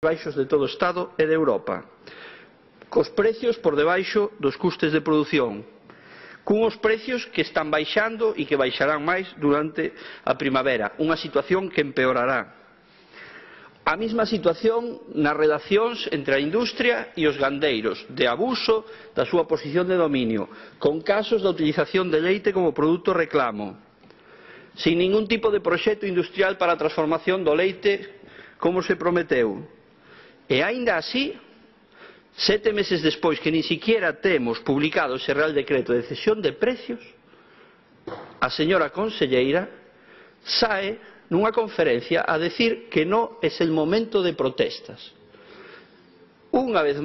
baixos de todo o Estado e de Europa, cos precios por debaixo dos custes de produción, cunhos precios que están baixando e que baixarán máis durante a primavera, unha situación que empeorará. A mesma situación nas relacións entre a industria e os gandeiros, de abuso da súa posición de dominio, con casos de utilización de leite como produto reclamo, sin ningún tipo de proxecto industrial para a transformación do leite como se prometeu. E aínda así, 7 meses despois que nin siquiera temos publicado ese Real Decreto de cesión de precios, a señora conselleira sae nunha conferencia a decir que non é el momento de protestas. Unha vez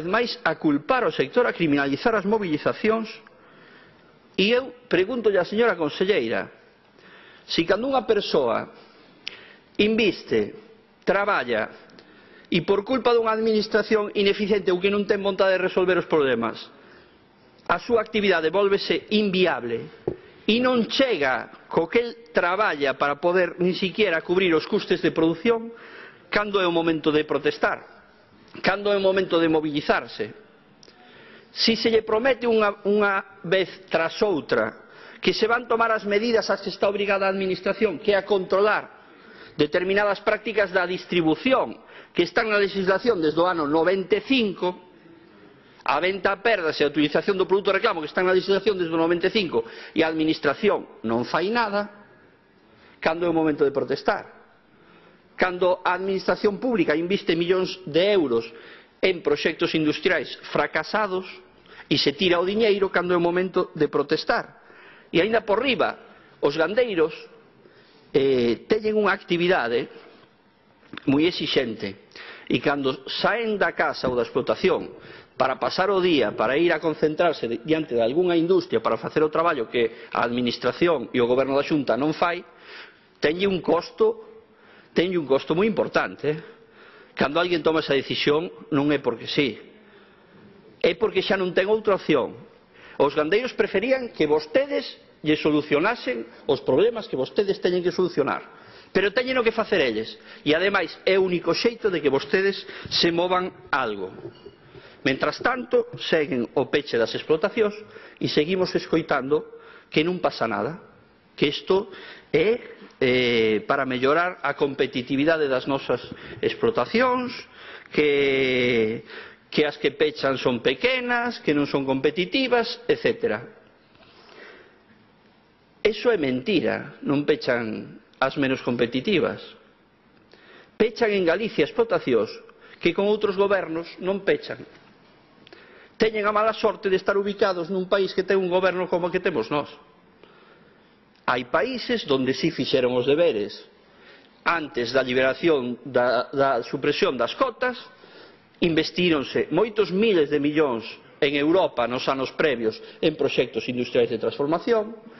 máis a culpar o sector, a criminalizar as movilizacións. E eu preguntolle á señora conselleira se cando unha persoa inviste, traballa e por culpa dunha administración ineficiente ou que non ten vontade de resolver os problemas, a súa actividade vólvese inviable e non chega co que el traballa para poder nin siquiera cubrir os custes de produción, cando é o momento de protestar, cando é o momento de mobilizarse. Si se lle promete unha vez tras outra que se van tomar as medidas ás que está obrigada a administración, que é a controlar determinadas prácticas da distribución que están na legislación desde o ano 95, a venta a perdas e a utilización do produto reclamo que están na legislación desde o 95, e a administración non fai nada, cando é o momento de protestar, cando a administración pública inviste millóns de euros en proxectos industriais fracasados e se tira o diñeiro, cando é o momento de protestar. E aínda por riba, os gandeiros teñen unha actividade moi exixente e cando saen da casa ou da explotación para pasar o día, para ir a concentrarse diante de algunha industria para facer o traballo que a administración e o goberno da Xunta non fai, teñe un costo moi importante. Cando alguén toma esa decisión non é porque sí, é porque xa non ten outra opción. Os gandeiros preferían que vostedes lle solucionasen os problemas que vostedes teñen que solucionar, pero teñen que facer eles, e ademais é o único xeito de que vostedes se movan algo. Mentras tanto, seguen o peche das explotacións e seguimos escoitando que non pasa nada, que isto é para mellorar a competitividade das nosas explotacións, que as que pechan son pequenas, que non son competitivas, etc. Eso é mentira, non pechan as menos competitivas. Pechan en Galicia explotacións que con outros gobernos non pechan. Teñen a mala sorte de estar ubicados nun país que ten un goberno como o que temos nós. Hai países onde si fixeron os deberes antes da liberación da supresión das cotas, investíronse moitos miles de millóns en Europa nos anos previos en proxectos industriais de transformación.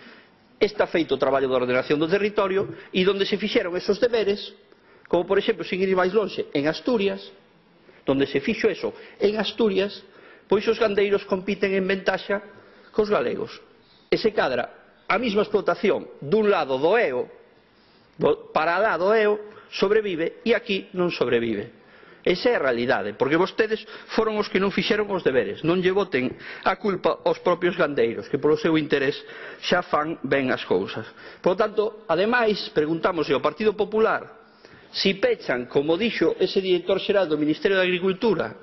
Está feito o traballo de ordenación do territorio e onde se fixeron esos deberes, como por exemplo, sin ir máis lonxe, en Asturias, onde se fixo eso, en Asturias, pois os gandeiros compiten en ventaxa cos galegos. E se cadra a mesma explotación dun lado do EO, para lá do EO, sobrevive e aquí non sobrevive. Esa é a realidade, porque vostedes foron os que non fixeron os deberes. Non lle boten a culpa aos propios gandeiros, que polo seu interés xa fan ben as cousas. Por tanto, ademais, preguntamos ao Partido Popular si pechan, como dixo ese director xeral do Ministerio de Agricultura,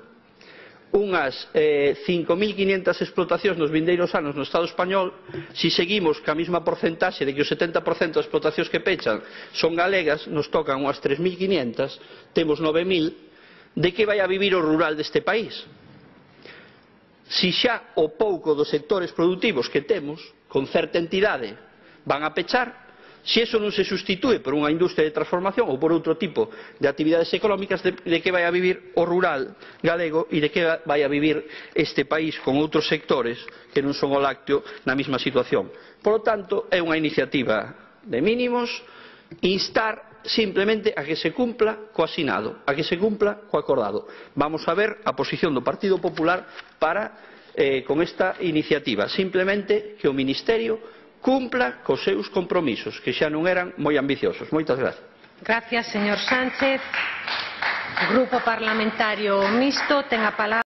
unhas 5.500 explotacións nos vindeiros anos no Estado español, si seguimos ca mesma porcentaxe de que o 70% das explotacións que pechan son galegas, nos tocan unhas 3.500, temos 9.000, de que vai a vivir o rural deste país? Si xa o pouco dos sectores productivos que temos, con certa entidade, van a pechar, se iso non se sustitúe por unha industria de transformación ou por outro tipo de actividades económicas, de que vai a vivir o rural galego e de que vai a vivir este país con outros sectores que non son o lácteo na mesma situación. Por lo tanto, é unha iniciativa de mínimos, instar simplemente a que se cumpla co asinado, a que se cumpla co acordado. Vamos a ver a posición do Partido Popular con esta iniciativa. Simplemente que o Ministerio cumpla cos seus compromisos, que xa non eran moi ambiciosos. Moitas grazas. Gracias, señor Sánchez. Grupo Parlamentario Mixto, ten a palabra.